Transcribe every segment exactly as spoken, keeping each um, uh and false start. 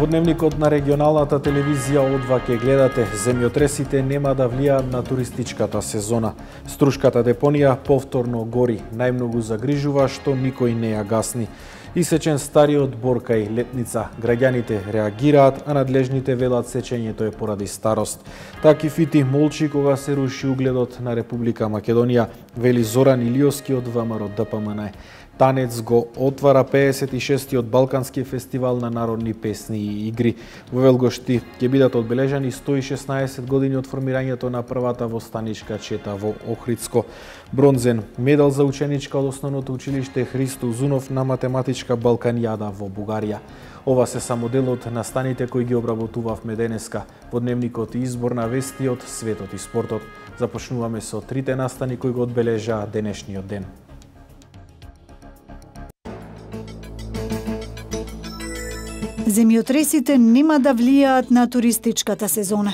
Дневникот на регионалната телевизија О два ќе гледате. Земјотресите нема да влијаат на туристичката сезона. Струшката депонија повторно гори. Најмногу загрижува што никој не ја гасни. Исечен стариот бор кај Летница. Граѓаните реагираат, а надлежните велат сечењето е поради старост. Таки фити молчи кога се руши угледот на Република Македонија, вели Зоран Илиовски од ВМРО Д П М Н. Танец го отвара пеесет и шестиот Балкански фестивал на народни песни и игри. Во Велгошти ќе бидат одбележани сто и шеснаесет години од формирањето на првата востаничка чета во Охридско. Бронзен медал за ученичка од основното училиште Христо Узунов на математичка Балканијада во Бугарија. Ова се само дел од настаните кои ги обработувавме денеска во Дневникот и избор на вести од светот и спортот. Започнуваме со трите настани кои го одбележаа денешниот ден. Земјотресите нема да влијаат на туристичката сезона.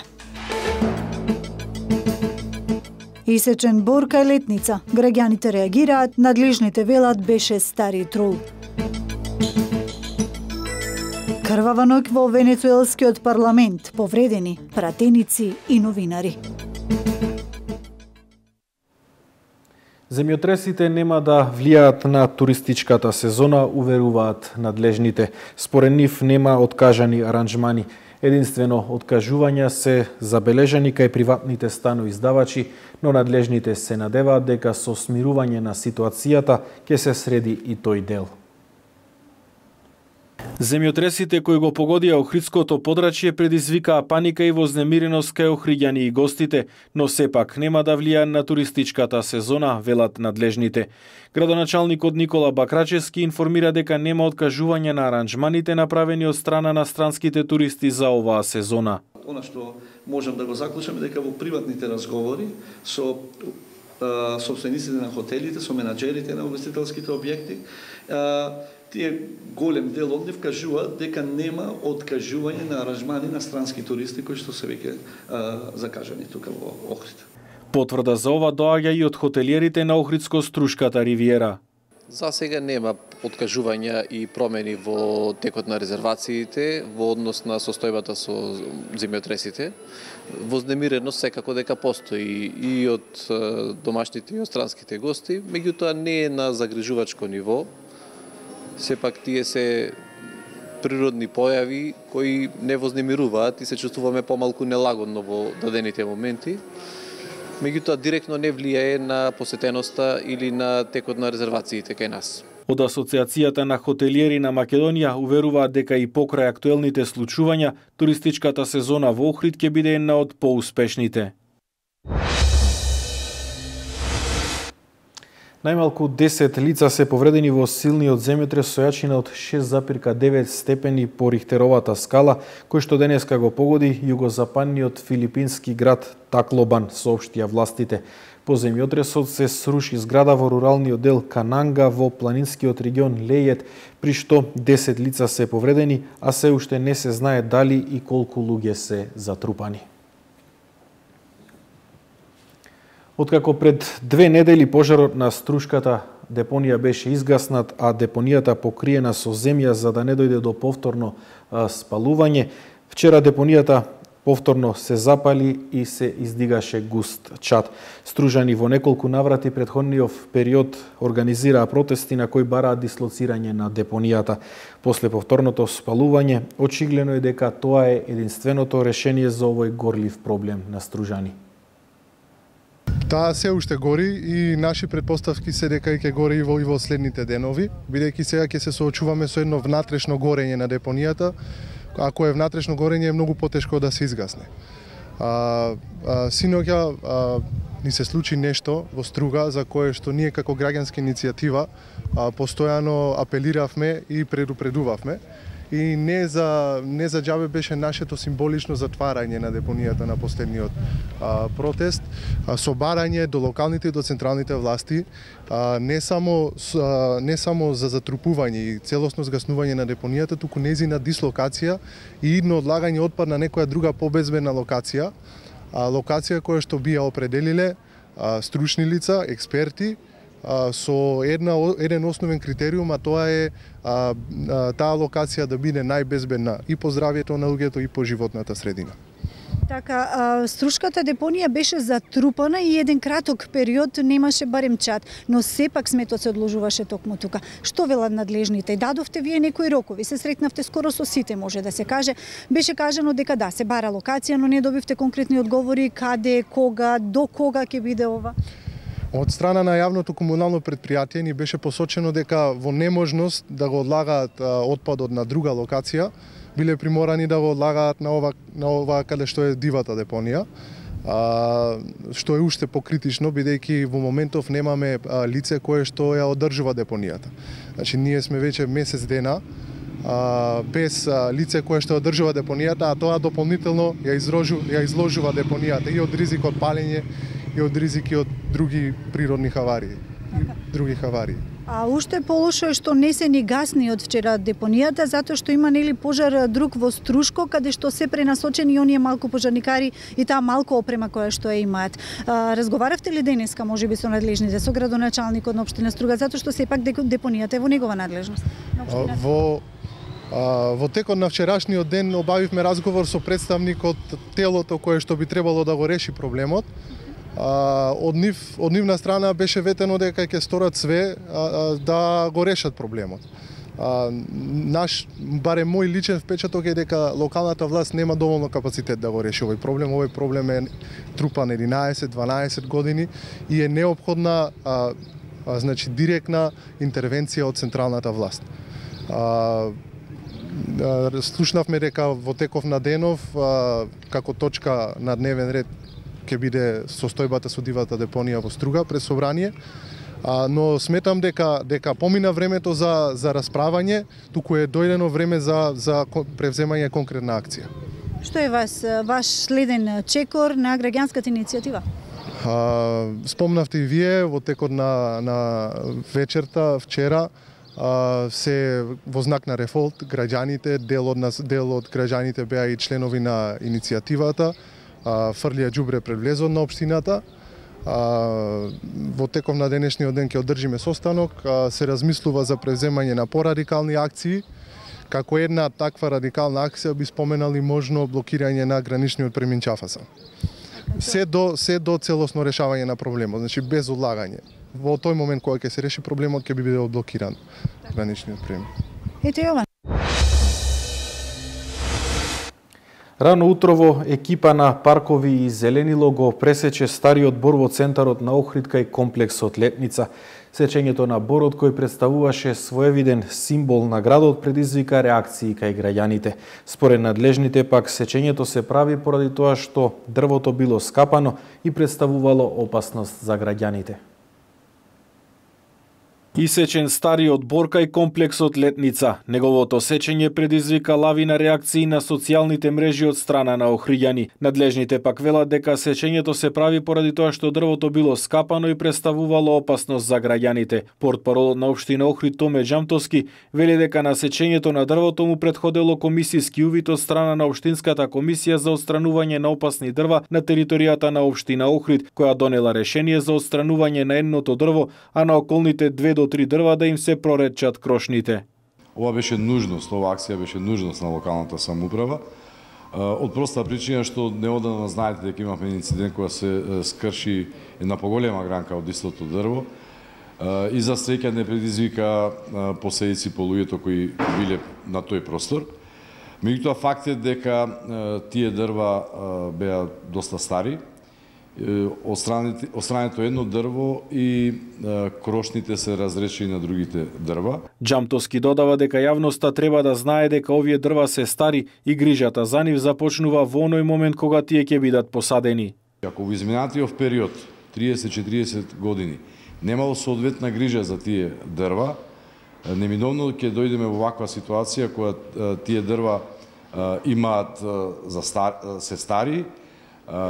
Исечен бор кај Летница. Граѓаните реагираат, надлежните велат беше стари трол. Крвава ноќ во венецуелскиот парламент, повредени пратеници и новинари. Земјотресите нема да влијаат на туристичката сезона, уверуваат надлежните. Според нив нема откажани аранжмани. Единствено откажувања се забележани кај приватните станоиздавачи, но надлежните се надеваат дека со смирување на ситуацијата ќе се среди и тој дел. Земјотресите кои го погодија Охридското подрачје предизвикаа паника и вознемиреност кај охриѓани и гостите, но сепак нема да влијаат на туристичката сезона, велат надлежните. Градоначалникот Никола Бакрачевски информира дека нема откажување на аранжманите направени од страна на странските туристи за оваа сезона. Она што можам да го заклучам е дека во приватните разговори со собствениците на хотелите, со менаџерите на угостителските објекти, тие голем дел од нив кажуваат дека нема откажување на аранжмани на странски туристи кои што се веќе закажани тука во Охрид. Потврда за ова доаѓа и од хотелиерите на Охридско-Струшката ривиера. За сега нема откажувања и промени во текот на резервациите во однос на состојбата со земјотресите. Вознемиреност секако дека постои и од домашните и од странските гости, меѓутоа не е на загрижувачко ниво. Сепак тие се природни појави кои не вознемируваат и се чувствуваме помалку нелагодно во дадените моменти. Меѓутоа директно не влијае на посетеноста или на текот на резервациите кај нас. Од Асоциацијата на хотелиери на Македонија уверуваат дека и покрај актуелните случувања, туристичката сезона во Охрид ќе биде една од поуспешните. Најмалку десет лица се повредени во силниот земјотрес со јачина од шест запирка девет степени по Рихтеровата скала, кој што денеска го погоди југозападниот филипински град Таклобан, соопштија властите. По земјотресот се сруши зграда во руралниот дел Кананга во планинскиот регион Лејет, при што десет лица се повредени, а се уште не се знае дали и колку луѓе се затрупани. Откако пред две недели пожарот на Струшката депонија беше изгаснат, а депонијата покриена со земја за да не дојде до повторно а, спалување, вчера депонијата повторно се запали и се издигаше густ чад. Стружани во неколку наврати претходниот период организираа протести на кои бараат дислоцирање на депонијата. После повторното спалување, очигледно е дека тоа е единственото решение за овој горлив проблем на Стружани. Таа се уште гори и наши предпоставки се дека ќе гори и во, и во следните денови, бидејќи сега ќе се соочуваме со едно внатрешно горење на депонијата. Ако е внатрешно горење е многу потешко да се изгасне. А, а, синоќа а, ни се случи нешто во Струга за кое што ние како граѓанска иницијатива а, постојано апелиравме и предупредувавме. И не за не за џабе беше нашето символично затварање на депонијата на последниот а, протест, а, собарање до локалните и до централните власти, а, не само а, не само за затрупување и целосно згаснување на депонијата, туку незина дислокација и идно одлагање отпад на некоја друга побезбедна локација, а, локација која што би ја определиле а, стручни лица, експерти, со една еден основен критериум, а тоа е а, а, таа локација да биде најбезбедна и по здравјето на луѓето и по животната средина. Така, а, Струшката депонија беше затрупана и еден краток период немаше барем чат, но сепак сметот се одложуваше токму тука. Што велат надлежните? Дадовте вие некои рокови? Се сретнавте скоро со сите, може да се каже. Беше кажано дека да, се бара локација, но не добивте конкретни одговори каде, кога, до кога ќе биде ова? Од страна на јавното комунално предпријатие ни беше посочено дека во неможност да го одлагаат отпадот на друга локација, биле приморани да го одлагаат на ова, на ова каде што е дивата депонија, а, што е уште покритично, бидејќи во моментов немаме а, лице кое што ја одржува депонијата. Значи, ние сме веќе месец дена а, без а, лице кое што одржува депонијата, а тоа дополнително ја, изложу, ја изложува депонијата и од ризик од палење, и од ризики од други природни хаварии, и други хаварии. А уште полошо е што не се ни гасни од вчера депонијата, затоа што има нели пожар друг во Струшко, каде што се пренасочени оние малку пожарникари и таа малку опрема која што ја имаат. А, разговаравте ли денеска можеби со надлежните, со градоначалникот на општина Струга, затоа што сепак депонијата е во негова надлежност? Во А, во текот на вчерашниот ден обавивме разговор со представник од телото кое што би требало да го реши проблемот. А, од нив од нивна страна беше ветено дека ќе сторат све а, а, да го решат проблемот. А, наш барем мој личен впечаток е дека локалната власт нема доволно капацитет да го реши овој проблем. Овој проблем е трупан единаесет дванаесет години и е неопходна а, а, значи директна интервенција од централната власт. А, слушнавме дека во теков на денов а, како точка на дневен ред ќе биде состојбата со дивата депонија во Струга пред собрание, а, но сметам дека дека помина времето за за расправање, туку е дојдено време за за превземање конкретна акција. Што е вас ваш следен чекор на граѓанската иницијатива? А, спомнавте и вие во текот на на вечерта вчера, а, се во знак на рефолт граѓаните, дел од нас, дел од граѓаните беа и членови на иницијативата, фрлија џубре пред влезот на општината. Во теков на денешниот ден ќе одржиме состанок, се размислува за превземање на порадикални акции. Како една таква радикална акција би споменали можно блокирање на граничниот премин Чафаса. Се до се до целосно решавање на проблемот, значи без одлагање. Во тој момент кога ќе се реши проблемот ќе биде одблокиран граничниот премин. Ете Јован. Рано утрово екипа на Паркови и Зеленило го пресече стариот бор во центарот на Охрид кај комплексот Летница. Сечењето на борот кој представуваше своевиден символ на градот предизвика реакции кај граѓаните. Според надлежните пак сечењето се прави поради тоа што дрвото било скапано и представувало опасност за граѓаните. Исечен стариот бор кај комплексот Летница. Неговото сечење предизвика лавина реакции на социјалните мрежи од страна на охриѓани. Надлежните пак велат дека сечењето се прави поради тоа што дрвото било скапано и представувало опасност за граѓаните. Портпаролот на општина Охрид Томе Џамтовски вели дека на сечењето на дрвото му претходело комисиски увид од страна на општинската комисија за отстранување на опасни дрва на територијата на општина Охрид, која донела решение за отстранување на едното дрво, а на околните две до три дрва да им се проречат крошните. Ова беше нужност, ова акција беше нужност на локалната самоуправа. Од проста причина што неодамна знаете дека имавме инцидент кога се скрши една поголема гранка од истото дрво и за среќа не предизвика последици по луѓето кои биле на тој простор. Меѓутоа факт е дека тие дрва беа доста стари. Отстрането едно дрво и крошните се разрешени на другите дрва. Џамтовски додава дека јавноста треба да знае дека овие дрва се стари и грижата за нив започнува во оној момент кога тие ќе бидат посадени. Ако во изминатиот период триесет до четириесет години немало соодветна грижа за тие дрва, неминовно ќе дојдеме во ваква ситуација кога тие дрва имаат за стар, се стари,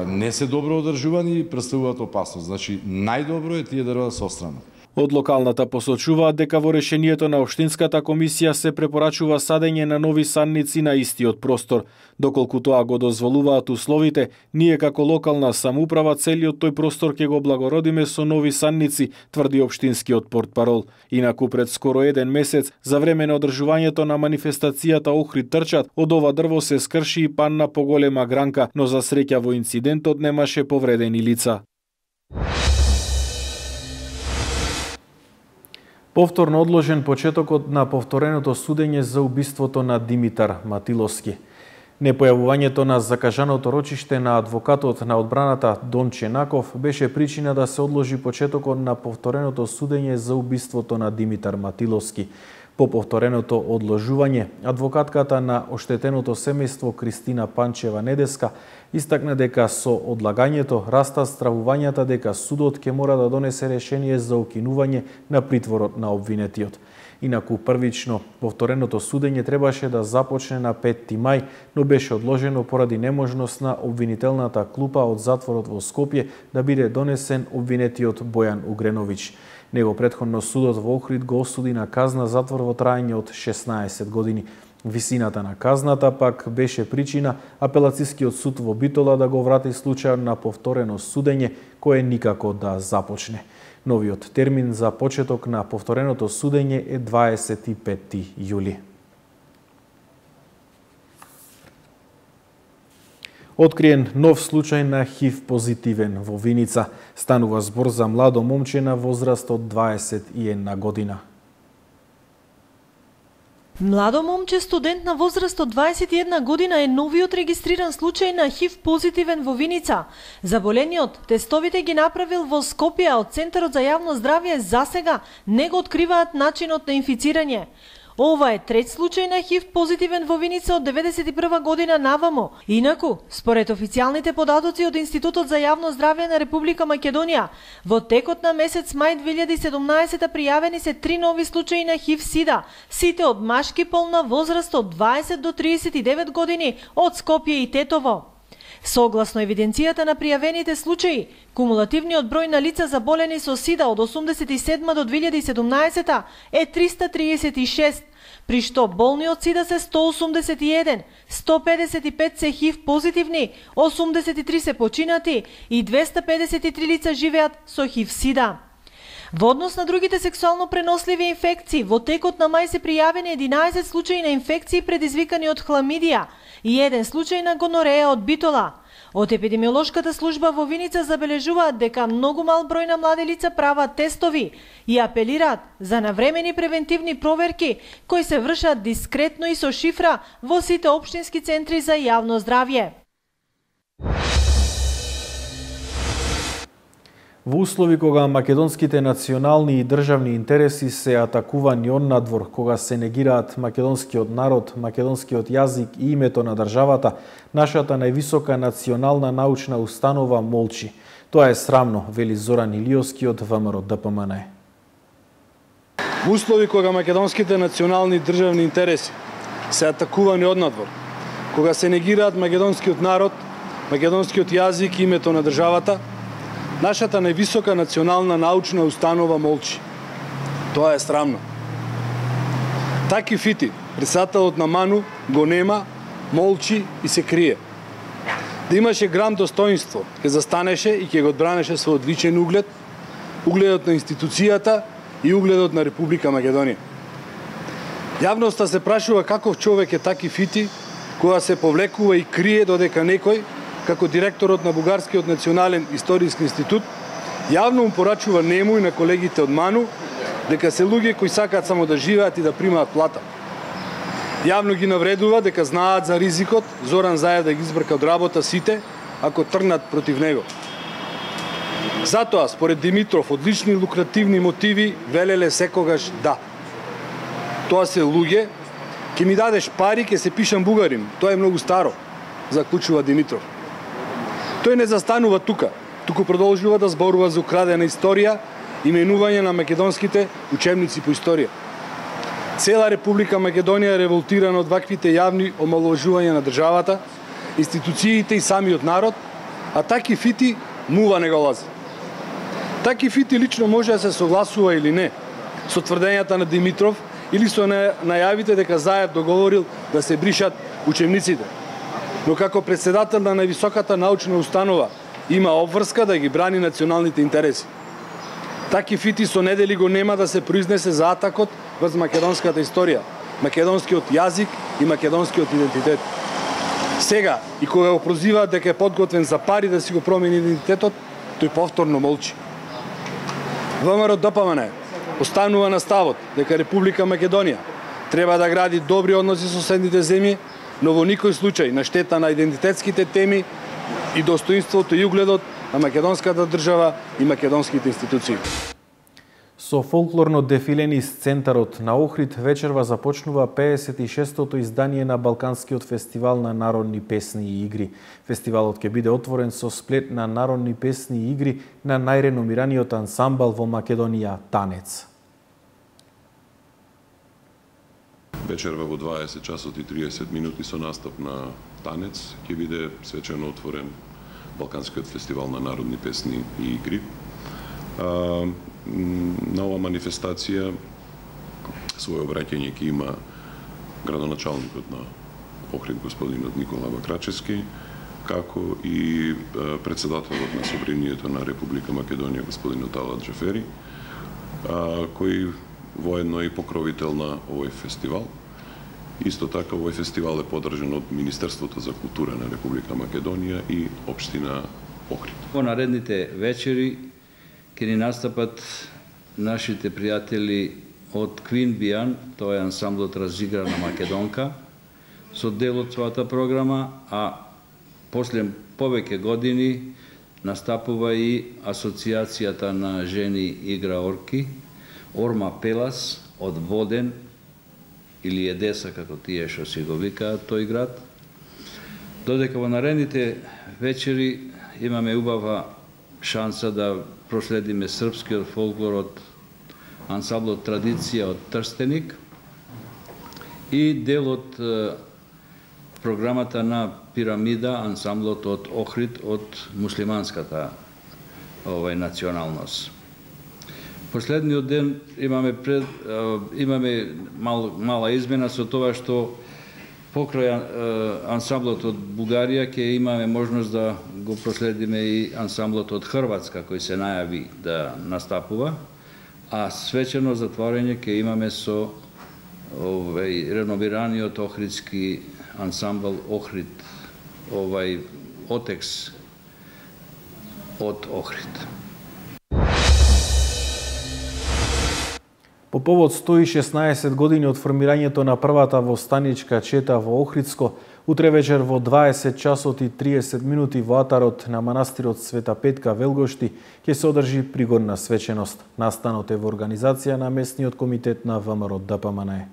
не се добро одржувани и представуваат опасност. Значи, најдобро е тие дрва да се отстранат. Од локалната посочуваат дека во решението на Општинската комисија се препорачува садење на нови садници на истиот простор. Доколку тоа го дозволуваат условите, ние како локална самоуправа целиот тој простор ќе го благородиме со нови садници, тврди општинскиот портпарол. Инаку пред скоро еден месец, за време на одржувањето на манифестацијата Охрид трчат, од ова дрво се скрши и падна поголема гранка, но за среќа во инцидентот немаше повредени лица. Повторно одложен почетокот на повтореното судење за убиството на Димитар Матиловски. Непојавувањето на закажаното рочиште на адвокатот на одбраната Донче Наков беше причина да се одложи почетокот на повтореното судење за убиството на Димитар Матиловски. По повтореното одложување, адвокатката на оштетеното семејство Кристина Панчева-Недеска истакна дека со одлагањето растат стравувањата дека судот ќе мора да донесе решение за укинување на притворот на обвинетиот. Инаку првично повтореното судење требаше да започне на петти мај, но беше одложено поради неможност на обвинителната клупа од затворот во Скопје да биде донесен обвинетиот Бојан Угреновиќ. Него претходно судот во Охрид го осуди на казна затвор во траење од шеснаесет години. Висината на казната пак беше причина апелацискиот суд во Битола да го врати случајот на повторено судење, кое никако да започне. Новиот термин за почеток на повтореното судење е дваесет и петти јули. Откриен нов случај на ХИВ позитивен во Виница. Станува збор за младо момче на возраст од дваесет и една година. Младо момче студент на возраст од дваесет и една година е новиот регистриран случај на ХИВ позитивен во Виница. Заболениот тестовите ги направил во Скопје, а од Центарот за јавно здравје засега не го откриваат начинот на инфицирање. Ова е трет случај на ХИВ позитивен во Виница од деветдесет и прва година навамо. Инаку, според официјалните податоци од Институтот за јавно здравје на Република Македонија, во текот на месец мај две илјади и седумнаесета пријавени се три нови случаи на ХИВ-сида, сите од машки пол на возраст од дваесет до триесет и девет години од Скопје и Тетово. Согласно евиденцијата на пријавените случаи, кумулативниот број на лица заболени со СИДА од осумдесет и седма до две илјади и седумнаесета е триста триесет и шест, при што болни од СИДА се сто осумдесет и еден, сто педесет и пет се ХИВ позитивни, осумдесет и три се починати и двеста педесет и три лица живеат со ХИВ-сида. Во однос на другите сексуално преносливи инфекции, во текот на мај се пријавени единаесет случаи на инфекции предизвикани од хламидија и еден случај на гонореја од Битола. Од епидемиолошката служба во Виница забележуваат дека многу мал број на млади лица прават тестови и апелираат за навремени превентивни проверки кои се вршат дискретно и со шифра во сите општински центри за јавно здравје. Во услови кога македонските национални и државни интереси се атакувани однадвор, кога се негираат македонскиот народ, македонскиот јазик и името на државата, нашата највисока национална научна установа молчи. Тоа е срамно, вели Зоран Илиовски од ВМРО Д П М Н. Во услови кога македонските национални и државни интереси се атакувани однадвор, кога се негираат македонскиот народ, македонскиот јазик и името на државата, нашата највисока национална научна установа молчи. Тоа е срамно. Таки Фити, председателот на МАНУ, го нема, молчи и се крие. Да имаше грам достоинство, ќе застанеше и ќе го одбранеше со одличен углед, угледот на институцијата и угледот на Република Македонија. Јавноста се прашува каков човек е Таки Фити, кога се повлекува и крие додека некој, како директорот на Бугарскиот национален историски институт, јавно му порачува нему и на колегите од МАНУ дека се луѓе кои сакаат само да живеат и да примаат плата. Јавно ги навредува дека знаат за ризикот Зоран Заев да ги избрка од работа сите ако тргнат против него. Затоа, според Димитров, одлични лукративни мотиви велеле секогаш да. Тоа се луѓе, ќе ми дадеш пари, ќе се пишам бугарин. Тоа е многу старо, заклучува Димитров. Тој не застанува тука, туку продолжува да зборува за украдена историја и менување на македонските учебници по историја. Цела Република Македонија е револтирана од ваквите јавни омаловажувања на државата, институциите и самиот народ, а Таки Фити мува не го лази. Таки фити лично може да се согласува или не со тврдењата на Димитров или со најавите дека Заев договорил да се бришат учебниците. Но како председател на највисоката научна установа има обврска да ги брани националните интереси. Таки фити со недели го нема да се произнесе за атакот врз македонската историја, македонскиот јазик и македонскиот идентитет. Сега, и кога го прозива дека е подготвен за пари да си го промени идентитетот, тој повторно молчи. ВМРО Д П М Н останува на ставот дека Република Македонија треба да гради добри односи со соседните земји, но во никој случај на штета на идентитетските теми и достоинството и угледот на македонската држава и македонските институции. Со фолклорно дефиле низ центарот на Охрид вечерва започнува пеесет и шестото издание на Балканскиот фестивал на народни песни и игри. Фестивалот ќе биде отворен со сплет на народни песни и игри на најреномираниот ансамбл во Македонија Танец. Вечерва во дваесет часот и триесет минути со настап на Танец ќе биде свечено отворен Балканскиот фестивал на народни песни и игри. А, на ова манифестација своје обраќање ќе има градоначалникот на Охрид господинот Никола Бакрачевски, како и председателот на Собранието на Република Македонија господинот Талат Джафери, а, кој воедно е и покровител на овој фестивал. Исто така, овој фестивал е подржан од Министерството за култура на Република Македонија и Општина Охрид. Во наредните вечери ќе ни настапат нашите пријатели од Квин Бијан, тоа е ансамблот разиграна македонка, со дел од својата програма, а после повеќе години настапува и Асоциацијата на жени играорки, Орма Пелас од Воден, или Едеса, како тие што си го викаат тој град. Додека во наредните вечери имаме убава шанса да проследиме српскиот фолклор од ансамблот Традиција од Трстеник и дел од програмата на Пирамида, ансамблот од Охрид од муслиманската овај националност. Последниот ден имаме пред, имаме мал, мала измена со тоа што покрај ансамблот од Бугарија ќе имаме можност да го проследиме и ансамблот од Хрватска кој се најави да настапува, а свечено затворање ќе имаме со овај реновираниот охридски ансамбл Охрид, овај Отекс од Охрид. По повод сто и шеснаесет години од формирањето на првата востаничка чета во Охридско, утре вечер во дваесет часот и триесет минути во атарот на манастирот Света Петка Велгошти ќе се одржи пригодна свеченост. Настанот е во организација на местниот комитет на ВМРО Д П М Н.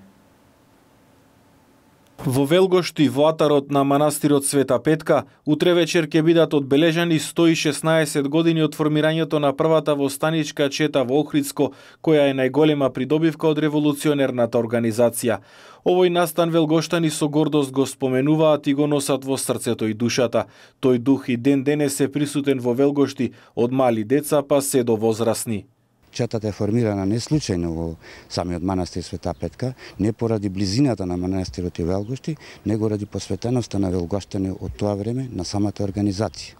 Во Велгошти, во атарот на манастирот Света Петка, утре вечер ќе бидат одбележани сто и шеснаесет години од формирањето на првата востаничка чета во Охридско, која е најголема придобивка од револуционерната организација. Овој настан велгоштани со гордост го споменуваат и го носат во срцето и душата. Тој дух и ден денес е присутен во Велгошти, од мали деца па се до возрастни. Четата е формирана не случајно во самиот манастир Света Петка, не поради близината на манастирот и Велгошти, него ради посветеноста на велгоштани од тоа време на самата организација.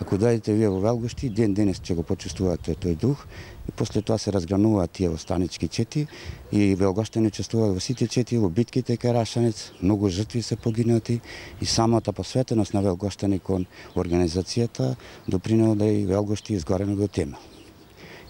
Ако дојдете вие во Велгошти, ден денес ќе го почувствувате тој дух и после тоа се разгрануваат тие востанички чети и велгоштани учествуваат во сите чети, во битките кај Рашанец, многу жртви се погинати и самата посветеност на велгоштани кон организацијата допринела да и Велгошти изгорено до тема.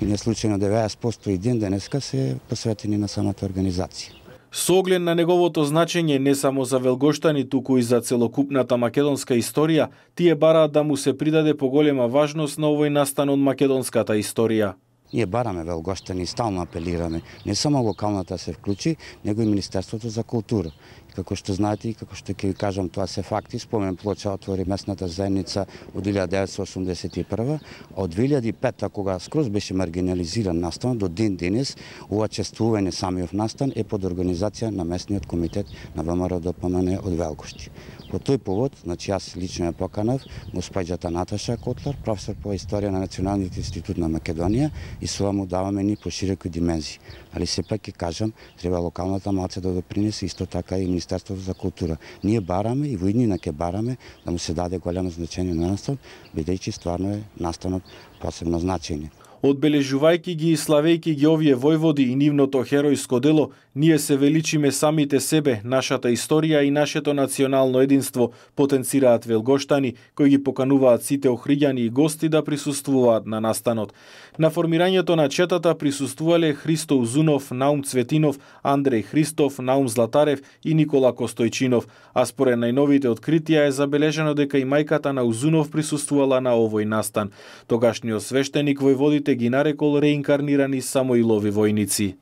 И не случајно деветдесет проценти и ден денеска се посветени на самата организација. Со оглед на неговото значење не само за велгоштани, туку и за целокупната македонска историја, тие бараат да му се придаде поголема важност на овој настан од македонската историја. Ние бараме велгоштани и стално апелираме, не само локалната се вклучи, него и Министерството за култура. Како што знаете и како што ќе ви кажам, тоа се факти. Спомен плоча отвори местната заедница од илјада деветстотини осумдесет и прва, од две илјади и пета кога скроз беше маргинализиран настанот до ден денес, ова чествување самиот настан е под организација на местниот комитет на ВМРО Д П М Н од Велгошти. По тој повод, значи јас лично ја поканав госпоѓата Наташа Котлар, професор по историја на Националниот институт на Македонија, и со ова му даваме ни пошироки димензии. Али сепак ќе кажам, треба локалната малце да допринесе, исто така и Министерството за култура. Ние бараме и во иднина ќе бараме да му се даде големо значење на настанот, бидејќи стварно е настанот посебно значење. Одбележувајќи ги и славејќи ги овие војводи и нивното херојско дело, ние се величиме самите себе, нашата историја и нашето национално единство, потенцираат велгоштани, кои ги покануваат сите охриѓани и гости да присуствуваат на настанот. На формирањето на четата присуствувале Христо Узунов, Наум Цветинов, Андреј Христов, Наум Златарев и Никола Костојчинов, а според најновите откритија е забележано дека и мајката на Узунов присуствувала на овој настан. Тогашниот свештеник војводите ги нарекол реинкарнирани Самоилови војници.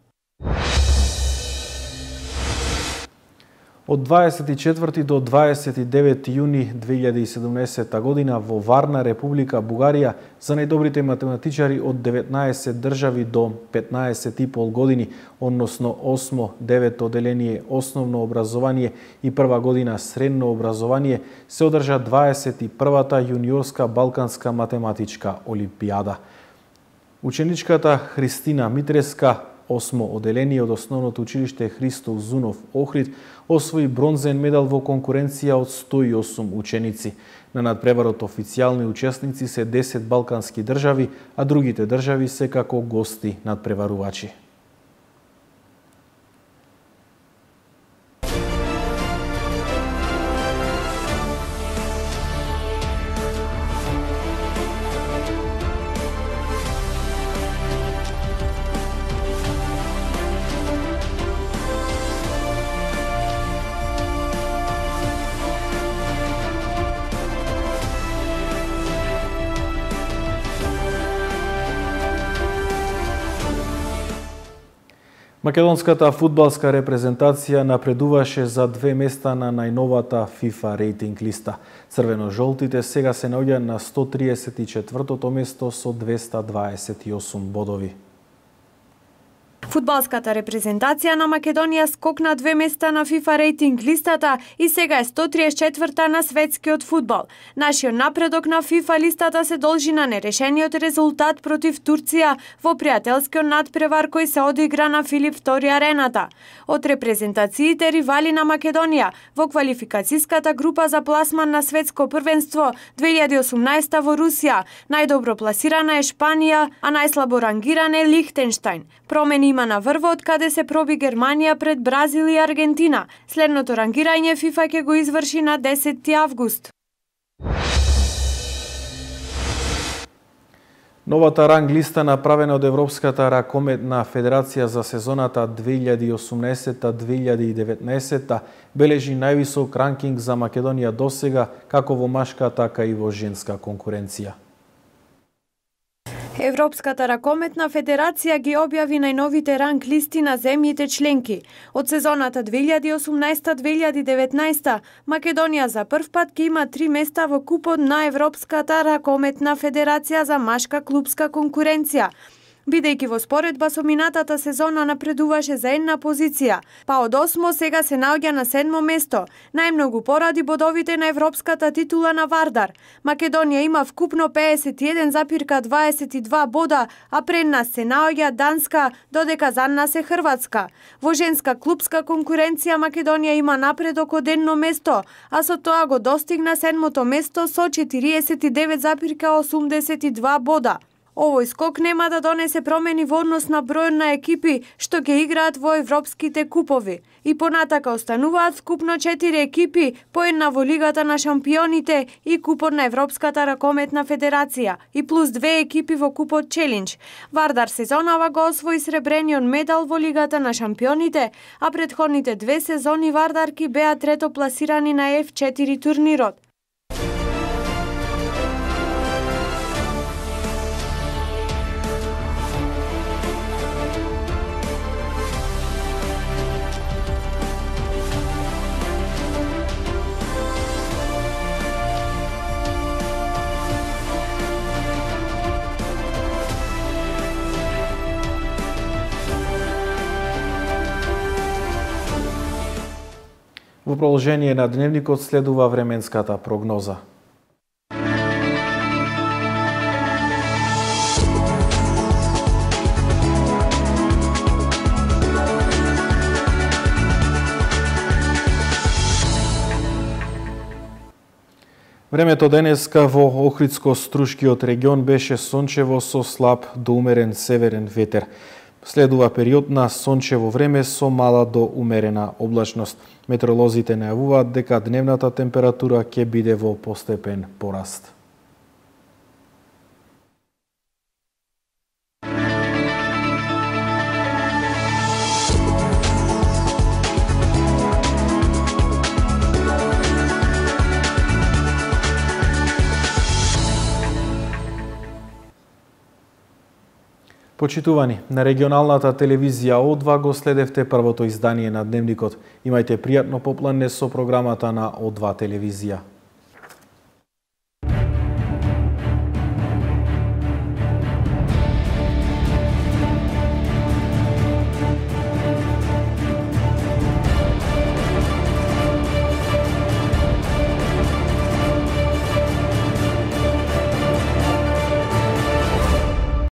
Од дваесет и четврти до дваесет и девети јуни две илјади и седумнаесета година во Варна, Република Бугарија, за најдобрите математичари од деветнаесет држави до петнаесет и пол години, односно осмо, девето оделение основно образование и прва година средно образование, се одржа дваесет и првата јуниорска балканска математичка олимпијада. Ученичката Христина Митреска, осмо оделение од основното училиште Христо Узунов Охрид, освои бронзен медал во конкуренција од сто и осум ученици. На надпреварот официјални учесници се десет балкански држави, а другите држави се како гости надпреварувачи. Македонската фудбалска репрезентација напредуваше за две места на најновата FIFA рейтинг листа. Црвено-жолтите сега се наоѓаат на сто триесет и четвртото место со двеста дваесет и осум бодови. Фудбалската репрезентација на Македонија скокна две места на FIFA рейтинг листата и сега е сто триесет и четврта на светскиот фудбал. Нашиот напредок на FIFA листата се должи на нерешениот резултат против Турција во пријателскиот надпревар кој се одигра на Филип втори арената. Од репрезентациите ривали на Македонија во квалификацијската група за пласман на светско првенство две илјади и осумнаесета во Русија, најдобро пласирана е Шпанија, а најслабо рангиран е Лихтенштајн. Промени има на врвот каде се проби Германија пред Бразил и Аргентина. Следното рангирање FIFA ќе го изврши на десети август. Новата ранг листа направена од Европската ракометна федерација за сезоната две илјади и осумнаесета две илјади и деветнаесета бележи највисок ранкинг за Македонија досега, како во машка, така и во женска конкуренција. Европската ракометна федерација ги објави најновите ранг листи на земјите членки. Од сезоната две илјади и осумнаесета две илјади и деветнаесета Македонија за прв пат ќе има три места во купот на Европската ракометна федерација за машка клубска конкуренција, бидејќи во споредба со минатата сезона напредуваше за една позиција, па од осмо сега се наоѓа на седмо место, најмногу поради бодовите на европската титула на Вардар. Македонија има вкупно пеесет и еден запирка дваесет и два бода, а пред нас се наоѓа Данска, додека за нас е Хрватска. Во женска клубска конкуренција Македонија има напредок од едно место, а со тоа го достигна седмото место со четириесет и девет запирка осумдесет и два бода. Овој скок нема да донесе промени во однос на бројот на екипи што ќе играат во европските купови. И понатака остануваат вкупно четири екипи, по една во Лигата на шампионите и Купот на Европската ракометна федерација, и плюс две екипи во Купот Челендж. Вардар сезонава го освои сребрениот медал во Лигата на шампионите, а претходните две сезони Вардарки беа трето пласирани на Еф четири турнирот. Во продолжение на дневникот следува временската прогноза. Времето денеска во Охридско-Струшкиот регион беше сончево со слаб до умерен северен ветер. Следува период на сончево време со мала до умерена облачност. Метеоролозите најавуваат дека дневната температура ќе биде во постепен пораст. Почитувани, на регионалната телевизија О два го следевте првото издание на Дневникот. Имајте пријатно попладне со програмата на О два телевизија.